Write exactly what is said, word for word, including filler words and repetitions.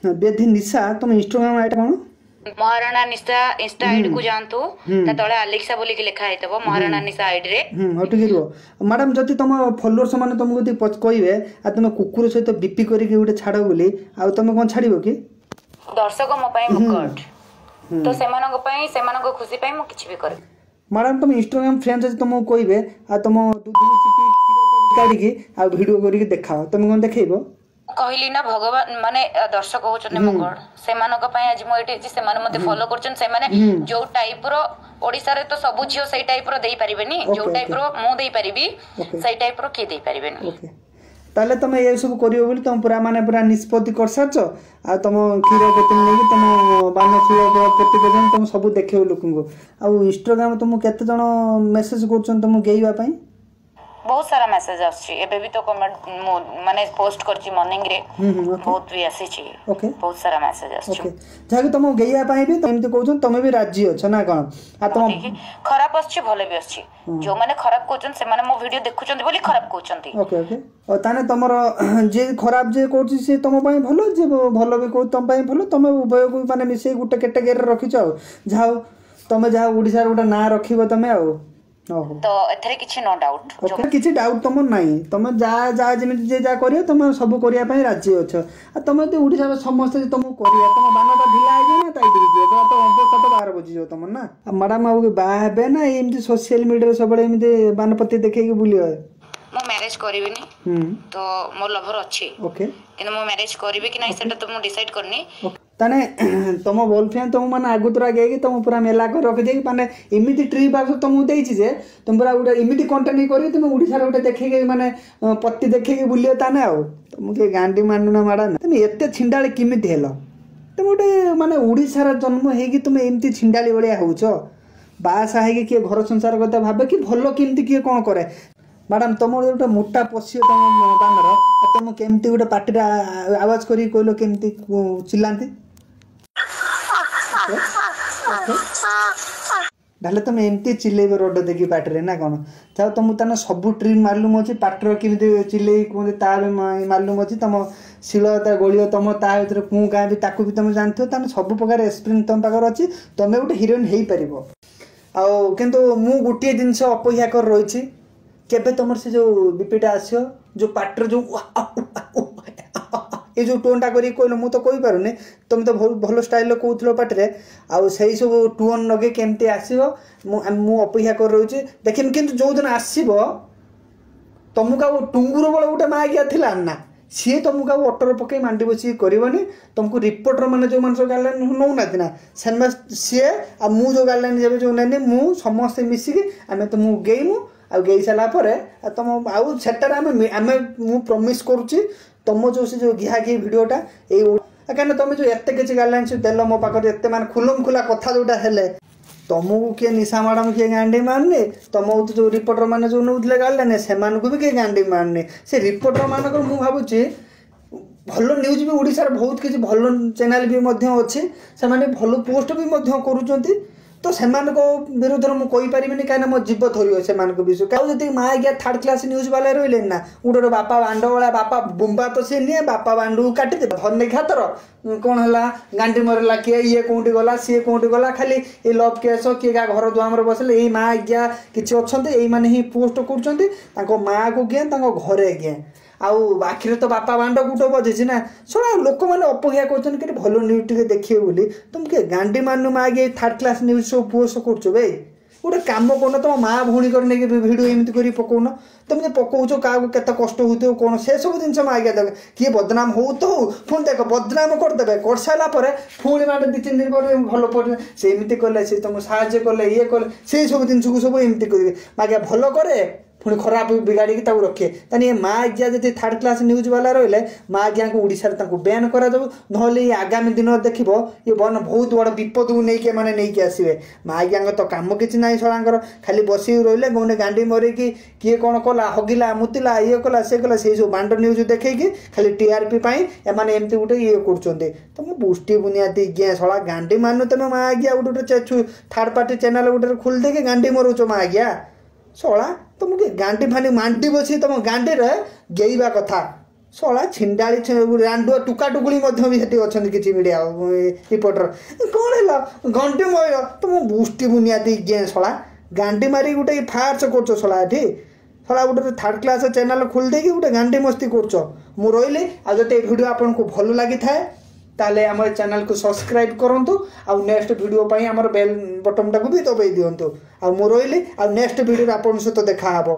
ବେଧି ନିଶା, ତମ Instagram ID କ'ଣ? ମହାରଣା ନିଶା। Insta ID କୁ ଯାଆନ୍ତୁ, ତା ତଳେ ଆଲେକ୍ସା ବୋଲିକି ଲେଖା ହେଇଥିବ ମହାରଣା ନିଶା ଆଇଡି ରେ। ହୁଁ, ହଉ, ଟିକେ ରୁହ ମ୍ୟାଡ଼ାମ। ଯଦି ତମ ଫଲୋଅର୍ସ ମାନେ ତମକୁ ଯଦି କହିବେ ଆଉ ତମେ କୁକୁର ସହିତ ବିପି କରିକି ଗୋଟେ ଛାଡ଼ ବୋଲି, ଆଉ ତମେ କ'ଣ ଛାଡ଼ିବ କି? ଦର୍ଶକ ମୋ ପାଇଁ ମୋ ଗଡ୍, ତ ସେମାନଙ୍କ ପାଇଁ, ସେମାନଙ୍କ ଖୁସି ପାଇଁ ମୁଁ କିଛି ବି କରିବି। ମ୍ୟାଡ଼ାମ, ତମ ଇନଷ୍ଟାଗ୍ରାମ ଫ୍ରେଣ୍ଡ ଯଦି ତମକୁ କହିବେ ଆଉ ତମ ଦୁଧକୁ ଚିପି କ୍ଷୀର କାଢିକି ଆଉ ଭିଡ଼ିଓ କରିକି ଦେଖାଅ, ତମେ କ'ଣ ଦେଖେଇବ? କହିଲି ନା, ଭଗବାନ ମାନେ ଦର୍ଶକ ହଉଛନ୍ତି ମୋ ଗଡ୍। ସେମାନଙ୍କ ପାଇଁ ଆଜି ମୁଁ ଏଇଠି ଅଛି। ସେମାନେ ମତେ ଫଲୋ କରୁଛନ୍ତି। ସେମାନେ ଯୋଉ ଟାଇପ ର, ଓଡିଶାରେ ତ ସବୁ ଝିଅ ସେଇ ଟାଇପ ର ଦେଇପାରିବେନି, ଯୋଉ ଟାଇପ ର ମୁଁ ଦେଇପାରିବି ସେଇ ଟାଇପ ର କିଏ ଦେଇପାରିବେନି। ତାହେଲେ ତମେ ଏ ସବୁ କରିବ ବୋଲି ତମ ପୁରା ମାନେ ପୁରା ନିଷ୍ପତ୍ତି କରିସାରିଛ, ଆଉ ତମ କ୍ଷୀର କେତେ ନେଇକି ତମ ବାନ ଶିଳ କେତେ ପର୍ଯ୍ୟନ୍ତ ତମ ସବୁ ଦେଖେଇବ ଲୋକଙ୍କୁ। ଆଉ ଇନଷ୍ଟାଗ୍ରାମ ତମକୁ କେତେ ଜଣ ମେସେଜ କରୁଛନ୍ତି ତମକୁ ଗେଇବା ପାଇଁ? ବହୁତ ସାରା ମେସେଜ ଆସୁଛି। ଏବେ ବି ତ କମେଣ୍ଟ ମୁଁ ମାନେ ପୋଷ୍ଟ କରିଛି ମର୍ଣ୍ଣିଂ ରେ, ବହୁତ ବି ଆସିଛି, ବହୁତ ସାରା ମେସେଜ ଆସୁଛି। ଯାହାକି ତମ ଗେଇବା ପାଇଁ ବି ଏମିତି କହୁଛନ୍ତି, ତମେ ବି ରାଜି ଅଛ ନା କଣ? ଆଉ ତମ ଖରାପ ଆସୁଛି, ଭଲ ବି ଆସୁଛି। ଯୋଉମାନେ ଖରାପ କହୁଛନ୍ତି ସେମାନେ ମୋ ଭିଡିଓ ଦେଖୁଛନ୍ତି ବୋଲି ଖରାପ କହୁଛନ୍ତି। ଓକେ ଓକେ, ତାହେଲେ ତମର ଯିଏ ଖରାପ ଯିଏ କହୁଛି ସିଏ ତମ ପାଇଁ ଭଲ, ଯିଏ ଭଲ ବି କହୁଛି ତମ ପାଇଁ ଭଲ। ତମେ ଉଭୟକୁ ମାନେ ମିଶେଇ ଗୋଟେ କ୍ୟାଟେଗୋରୀରେ ରଖିଛ। ଆଉ ଯାହା ହଉ, ତମେ ଯାହା ଓଡ଼ିଶାର ଗୋଟେ ନାଁ ରଖିବ ତମେ। ଆଉ ତ ଏଥିରେ କିଛି ନୋ ଡାଉଟ୍, କିଛି ଡାଉଟ୍ ତମର ନାହିଁ। ତମେ ଯାହା ଯାହା ଯେମିତି ଯିଏ ଯାହା କରିବ ତମେ ସବୁ କରିବା ପାଇଁ ରାଜି ଅଛ। ଆଉ ତମେ ଯଦି ଓଡ଼ିଶାର ସମସ୍ତେ ତମକୁ କରିବା, ତମ ବାନଟା ଢିଲା ହେଇଯିବ ନା ଟାଇଟ୍ ହେଇଯିବ? ତ ଅବସ୍ଥାଟା ବାହାର ବୁଝିଯିବ ତମର ନା। ଆଉ ମ୍ୟାଡ଼ାମ, ଆଉ ବାହା ହେବେ ନା ଏମିତି ସୋସିଆଲ ମିଡ଼ିଆରେ ସବୁବେଳେ ଏମିତି ବାନପତି ଦେଖେଇକି ବୁଲିବ? ମୁଁ ମ୍ୟାରେଜ କରିବିନି। ତ ମୋ ଲଭର ଅଛି, କିନ୍ତୁ ମୁଁ ମ୍ୟାରେଜ କରିବି କି ନାହିଁ ସେଟା ତ ମୁଁ ଡିସାଇଡ୍ କରିନି। ତାହେଲେ ତମ ବଏଫ୍ରେଣ୍ଡ ତମ ମାନେ ଆଗତୁରା ଗେଇକି ତମ ପୁରା ମେଲା କରି ରଖିଦେଇକି ମାନେ ଏମିତି ଟ୍ରିପ୍ ଆସ ତମକୁ ଦେଇଛି ଯେ ତମେ ପୁରା ଗୋଟେ ଏମିତି କଣ୍ଟେଣ୍ଟ କରିକି ତମେ ଓଡ଼ିଶାରେ ଗୋଟେ ଦେଖେଇକି ମାନେ ପତି ଦେଖେଇକି ବୁଲିବ। ତାହେଲେ ଆଉ ତମକୁ କିଏ ଗାଣ୍ଡି ମାନୁନା ମ୍ୟାଡ଼ାମ? ତମେ ଏତେ ଛିଣ୍ଡାଳି କେମିତି ହେଲ? ତମେ ଗୋଟେ ମାନେ ଓଡ଼ିଶାର ଜନ୍ମ ହେଇକି ତମେ ଏମିତି ଛିଣ୍ଡାଳି ଭଳିଆ ହଉଛ। ବାହାସାହା ହେଇକି କିଏ ଘର ସଂସାର କଥା ଭାବେ କି ଭଲ କେମିତି କିଏ କ'ଣ କରେ? ମ୍ୟାଡ଼ାମ, ତମର ଗୋଟେ ମୋଟା ପଶିବ ତମ ବାନର, ତମ କେମିତି ଗୋଟେ ପାଟିରେ ଆୱାଜ କରିକି କହିଲ କେମିତି ଚିଲ୍ଲାନ୍ତି? ତାହେଲେ ତମେ ଏମିତି ଚିଲେଇବ ରୋଡ଼ ଦେଖି ପାଟିରେ ନା କ'ଣ? ଯାଉ, ତମକୁ ତାହେଲେ ସବୁ ଟ୍ରିକ୍ ମାଲୁମ ଅଛି। ପାଟିର କେମିତି ଚିଲେଇ କୁହନ୍ତି ତା ବି ମାଲୁମ ଅଛି। ତମ ଶିଳ ତା ଗୋଳିବ ତମ ତା ଭିତରେ କୁଁ କାଁ ବି ତାକୁ ବି ତମେ ଜାଣିଥିବ। ତାହେଲେ ସବୁ ପ୍ରକାର ଏକ୍ସପିରିଏନ୍ସ ତମ ପାଖରେ ଅଛି, ତମେ ଗୋଟେ ହିରୋଇନ୍ ହେଇପାରିବ। ଆଉ କିନ୍ତୁ ମୁଁ ଗୋଟିଏ ଜିନିଷ ଅପେକ୍ଷା କରି ରହିଛି, କେବେ ତମର ସେ ଯୋଉ ବିପିଟା ଆସିବ, ଯୋଉ ପାଟିର ଯୋଉ ଏ ଯୋଉ ଟୋନ୍ଟା କରିକି କହିଲ, ମୁଁ ତ କହିପାରୁନି, ତମେ ତ ବହୁତ ଭଲ ଷ୍ଟାଇଲରେ କହୁଥିଲ ପାଟିରେ। ଆଉ ସେଇ ସବୁ ଟୋନ୍ ଲଗେଇ କେମିତି ଆସିବ, ମୁଁ ମୁଁ ଅପେକ୍ଷା କରି ରହୁଛି ଦେଖିନି। କିନ୍ତୁ ଯୋଉଦିନ ଆସିବ, ତମକୁ ଆଉ ଟୁଙ୍ଗୁର ବଳ ଗୋଟେ ମାଗିଆ ଥିଲା ନା, ସିଏ ତମକୁ ଆଉ ଅଟୋରେ ପକେଇ ମାଣ୍ଡି ବସିକି କରିବନି। ତମକୁ ରିପୋର୍ଟର ମାନେ ଯେଉଁମାନେ ସବୁ ଗାଇଡ଼ଲାଇନ୍ ନେଉନାହାନ୍ତି ନା, ସେମାନେ ସିଏ ଆଉ ମୁଁ ଯେଉଁ ଗାଇଡ଼ଲାଇନ୍ ଯେବେ ଯେଉଁ ନେନି, ମୁଁ ସମସ୍ତେ ମିଶିକି ଆମେ ତମକୁ ଗେଇମୁ। ଆଉ ଗେଇ ସାରିଲା ପରେ ଆଉ ତମ ଆଉ ସେଟାରେ ଆମେ ଆମେ ମୁଁ ପ୍ରମିସ୍ କରୁଛି, ତମ ଯେଉଁ ସେ ଯେଉଁ ଘିହା ଘି ଭିଡ଼ିଓଟା ଏଇ, କାହିଁକିନା ତମେ ଯେଉଁ ଏତେ କିଛି ଗାଇଡ଼ଲାଇନ୍ସ ଦେଲ ମୋ ପାଖରେ, ଏତେ ମାନେ ଖୁଲମ ଖୁଲା କଥା ଯେଉଁଟା ହେଲେ, ତମକୁ କିଏ ନିଶା ମ୍ୟାଡ଼ାମ କିଏ ଗାଣ୍ଡି ମାରୁନି। ତମକୁ ଯେଉଁ ରିପୋର୍ଟର ମାନେ ଯେଉଁ ନେଉଥିଲେ ଗାଇଡ଼ଲାଇନ୍, ସେମାନଙ୍କୁ ବି କିଏ ଗାଣ୍ଡି ମାରୁନି। ସେ ରିପୋର୍ଟର ମାନଙ୍କର ମୁଁ ଭାବୁଛି ଭଲ ନ୍ୟୁଜ୍ ବି ଓଡ଼ିଶାରେ ବହୁତ କିଛି ଭଲ ଚ୍ୟାନେଲ୍ ବି ମଧ୍ୟ ଅଛି, ସେମାନେ ଭଲ ପୋଷ୍ଟ ବି ମଧ୍ୟ କରୁଛନ୍ତି। ତ ସେମାନଙ୍କ ବିରୁଦ୍ଧରେ ମୁଁ କହିପାରିବିନି, କାହିଁକିନା ମୋ ଜୀବ ଧରିବ ସେମାନଙ୍କ ବିଷୟ। ଆଉ ଯଦି ମା ଆଜ୍ଞା ଥାର୍ଡ଼ କ୍ଲାସ୍ ନ୍ୟୁଜ୍ ବାଲା ରହିଲେନି ନା, ଗୋଟେ ଗୋଟେ ବାପା ବାଣ୍ଡ ଭଳିଆ ବାପା ବୁମ୍ବା ତ ସିଏ ନିଏ, ବାପା ବାଣ୍ଡକୁ କାଟିଦେବେ ଧରନି ଖାତର। କ'ଣ ହେଲା, ଗାଣ୍ଡି ମରିଲା କିଏ, ଇଏ କେଉଁଠି ଗଲା, ସିଏ କେଉଁଠି ଗଲା, ଖାଲି ଏ ଲଭ୍ କେସ୍, କିଏ କାହା ଘର ଦୁଆମରେ ବସିଲେ, ଏଇ ମା ଆଜ୍ଞା କିଛି ଅଛନ୍ତି, ଏଇମାନେ ହିଁ ପୋଷ୍ଟ କରୁଛନ୍ତି। ତାଙ୍କ ମାଆକୁ କିଏ, ତାଙ୍କ ଘରେ କିଏ, ଆଉ ଆଖିରେ ତ ବାପା ବାଣ୍ଡ ଗୁଟ ବଜେଇଛି ନା। ଶୁଣ, ଲୋକମାନେ ଅପେକ୍ଷା କରୁଛନ୍ତି କି ଭଲ ନ୍ୟୁଜ୍ ଟିକେ ଦେଖିବେ ବୋଲି। ତମେ କିଏ ଗାଣ୍ଡି ମାନୁ ମାଗି ଥାର୍ଡ଼ କ୍ଲାସ୍ ନ୍ୟୁଜ୍ ସବୁ ପୋଷ୍ଟ କରୁଛ ବେ? ଗୋଟେ କାମ କରୁନ, ତମ ମା ଭଉଣୀଙ୍କର ନେଇକି ଭିଡ଼ିଓ ଏମିତି କରି ପକଉନ। ତମେ ଯେ ପକଉଛ, କାହାକୁ କେତେ କଷ୍ଟ ହେଉଥିବ କ'ଣ, ସେସବୁ ଜିନିଷ ମାଗିଆ ଦେଖ। କିଏ ବଦନାମ ହଉ ତ ହଉ, ପୁଣି ଦେଖ ବଦନାମ କରିଦେବେ, କରିସାରିଲା ପରେ ପୁଣି ମାନେ ଦୁଇ ତିନି ଦିନ ପରେ ଭଲ ପଡ଼ିବେ, ସେ ଏମିତି କଲେ, ସେ ତମକୁ ସାହାଯ୍ୟ କଲେ, ଇଏ କଲେ, ସେଇ ସବୁ ଜିନିଷକୁ ସବୁ ଏମିତି କରିବେ। ମାଗିଆ ଭଲ କରେ, ପୁଣି ଖରାପ ବିଗାଡ଼ିକି ତାକୁ ରଖିବେ। ତାହେଲେ ଏ ମା ଆଜ୍ଞା ଯଦି ଥାର୍ଡ଼ କ୍ଲାସ୍ ନ୍ୟୁଜ୍ ବାଲା ରହିଲେ, ମା ଆଜ୍ଞାଙ୍କୁ ଓଡ଼ିଶାରେ ତାଙ୍କୁ ବ୍ୟାନ୍ କରାଯାଉ, ନହେଲେ ଏ ଆଗାମୀ ଦିନ ଦେଖିବ ଏ ବନ ବହୁତ ବଡ଼ ବିପଦକୁ ନେଇକି ଏମାନେ ନେଇକି ଆସିବେ। ମା ଆଜ୍ଞାଙ୍କ ତ କାମ କିଛି ନାହିଁ ଶଳାଙ୍କର, ଖାଲି ବସିକି ରହିଲେ ଗଣ୍ଡେ ଗାଣ୍ଡି ମରିକି କିଏ କ'ଣ କଲା, ହଗିଲା ମୁତିଲା, ଇଏ କଲା, ସେ କଲା, ସେଇ ସବୁ ବାଣ୍ଡ ନ୍ୟୁଜ୍ ଦେଖେଇକି ଖାଲି ଟିଆର୍ପି ପାଇଁ ଏମାନେ ଏମିତି ଗୋଟେ ଇଏ କରୁଛନ୍ତି। ତ ମୁଁ ବୁଷ୍ଟି ବୁନିଆଦି ଆଜ୍ଞା ଶଳା ଗାଣ୍ଡି ମାନୁ। ତମେ ମା ଆଜ୍ଞା ଗୋଟେ ଗୋଟେ ଥାର୍ଡ଼ ପାର୍ଟି ଚ୍ୟାନେଲ୍ ଗୋଟେ ଖୋଲି ଦେଇକି ଗାଣ୍ଡି ମରଉଛ। ମା ଆଜ୍ଞା ଶଳା, ତମକୁ ଗାଣ୍ଡି ଫାଣ୍ଡି ମାଣ୍ଡି ବସି ତମ ଗାଣ୍ଡିରେ ଗେଇବା କଥା। ଶଳା ଛିଣ୍ଡାଳି ରାଣ୍ଡୁଆ ଟୁକା ଟୁକୁଳି ମଧ୍ୟ ବି ସେଠି ଅଛନ୍ତି କିଛି ମିଡ଼ିଆ ରିପୋର୍ଟର। କ'ଣ ହେଲା ଗଣ୍ଡି ମୟ ତୁମ ବୁଷ୍ଟି ବୁନିଆଦି ଗେଁ ଶଳା ଗାଣ୍ଡି ମାରି ଗୋଟେ ଫାର୍ସ କରୁଛ ଶଳା ଏଠି ଶଳା ଗୋଟେ ଥାର୍ଡ଼ କ୍ଲାସ୍ ଚ୍ୟାନେଲ୍ ଖୋଲି ଦେଇକି ଗୋଟେ ଗାଣ୍ଡି ମସ୍ତି କରୁଛ। ମୁଁ ରହିଲି। ଆଉ ଯଦି ଏ ଭିଡ଼ିଓ ଆପଣଙ୍କୁ ଭଲ ଲାଗିଥାଏ ତାହେଲେ ଆମ ଏ ଚ୍ୟାନେଲ୍କୁ ସବସ୍କ୍ରାଇବ୍ କରନ୍ତୁ, ଆଉ ନେକ୍ସଟ ଭିଡ଼ିଓ ପାଇଁ ଆମର ବେଲ୍ ବଟନ୍ଟାକୁ ବି ଦବାଇ ଦିଅନ୍ତୁ। ଆଉ ମୁଁ ରହିଲି, ଆଉ ନେକ୍ସଟ ଭିଡ଼ିଓରେ ଆପଣଙ୍କ ସହିତ ଦେଖା ହେବ।